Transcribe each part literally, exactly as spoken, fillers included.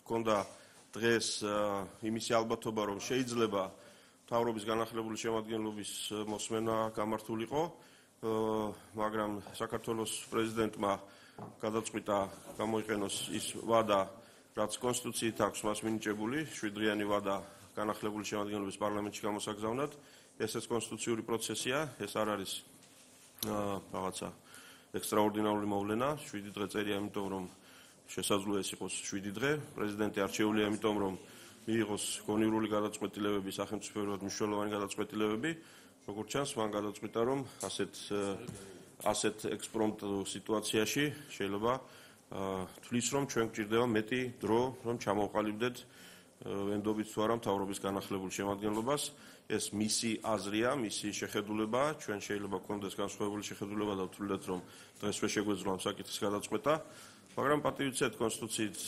ჰქონდა დღეს იმისი ალბათობა, რომ შეიძლება მთავრობის განახლებული შემადგენლობის მოსმენა გამართულიყო, მაგრამ საქართველოს პრეზიდენტმა გადაწყვიტა გამოიყენოს ის ვადა, რაც კონსტიტუციით აქვს მას მინიჭებული, შვიდდღიანი ვადა განახლებული შემადგენლობის პარლამენტში გამოსაგზავნად. ესეც კონსტიტუციური პროცესია, ეს არ არის რაღაცა ექსტრაორდინარული მოვლენა, შვიდი დღე წერია, იმიტომ რომ შესაძლოა ეს იყოს შვიდი დღე, პრეზიდენტი არჩეულია, იმიტომ რომ მიიღოს კონივრული გადაწყვეტილებები, სახელმწიფოებრივად მნიშვნელოვანი გადაწყვეტილებები, როგორც ჩანს, მან გადაწყვიტა, რომ ასეთ ასეთ ექსპრომტ სიტუაციაში შეიძლება თვლის, რომ ჩვენ გვჭირდება მეტი დრო, რომ ჩამოვყალიბდეთ ვენდობით თუ არა მთავრობის განახლებულ შემადგენლობას. ეს მისი აზრია, მისი შეხედულება, ჩვენ შეიძლება გქონდეს განსხვავებული შეხედულება და ვთვლიდეთ, რომ დღეს ვერ შეგვეძლო ამ საკითხის გადაწყვეტა, მაგრამ პატივიცეთ კონსტიტუციით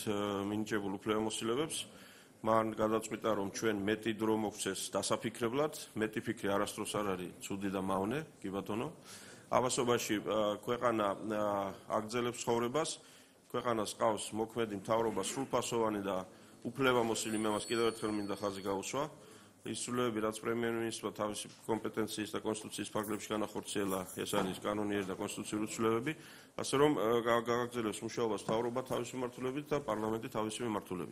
მინიჭებულ უფლებამოსილებებს. მან გადაწყვიტა, რომ ჩვენ მეტი დრო მოგვცეს დასაფიქრებლად, მეტი ფიქრი არასდროს არ არის ცუდი და მავნე, კი ბატონო. ამასობაში ქვეყანა აგრძელებს ცხოვრებას, ქვეყანას ყავს მოქმედი მთავრობა სრულფასოვანი და უფლებამოსილი, მე მას კიდევ ერთხელ მინდა ხაზი გაუსვა. ის ცვლილებები, რაც პრემიერ-მინისტრმა თავისი კომპეტენციის და კონსტიტუციის ფარგლებში განახორციელა, ეს არის კანონიერი და კონსტიტუციური ცვლილებები, ასე რომ გააგრძელებს მუშაობას მთავრობა თავისი მიმართულებით და პარლამენტი თავისი მიმართულებით.